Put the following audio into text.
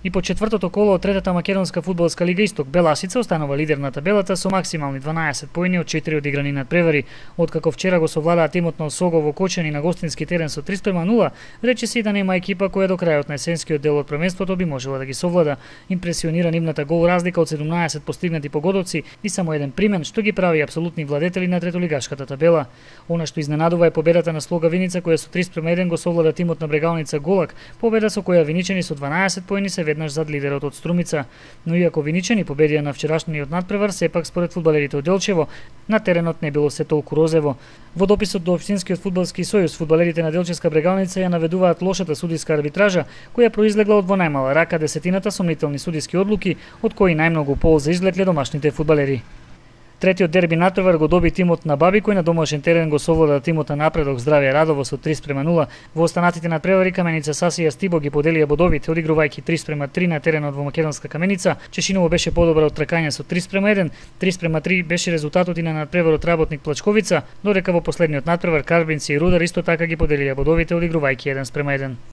И по четвртото коло од третата македонска фудбалска лига Исток, Беласица останува лидер на табелата со максимални 12 поени од 4 одиграни надпревари. Откако вчера го совладаа тимот на Осого во Кочани на гостински терен со 3:0, рече си да нема екипа која до крајот на есенскиот дел од првенството би можела да ги совлада. Импресионира нивната гол разлика од 17 постигнати погодоци и само еден примен, што ги прави апсолутни владетели на третолигашката табела. Она што изненадува е победата на Слога Виница која со 3:1 го совлада тимот на Брегалница Голак, победа со која виничани со 12 поени се веднаш зад лидерот од Струмица. Но иако виничани победија на вчерашниот надпревар, сепак според фудбалерите од Делчево, на теренот не било се толку розево. Во дописот до Општинскиот фудбалски сојуз, фудбалерите на Делчевска Брегалница ја наведуваат лошата судиска арбитража, која произлегла од во најмала рака десетината сомнителни судиски одлуки, од кои најмногу полза извлекле домашните фудбалери. Третиот дерби надпревар го доби тимот на Баби, кој на домашен терен го совлада тимот на Напредок Здравје Радово со 3:0. Во останатите надпревари Каменица Саси и Стибо ги поделија бодовите, одигрувајќи 3:3 на теренот во македонска Каменица. Чешиново беше подобра од тркање со 3:1, 3:3 беше резултатот и на надпреварот Работник Плачковица, додека во последниот надпревар Карбинци и Рудар исто така ги поделија бодовите, одигрувајќи 1:1.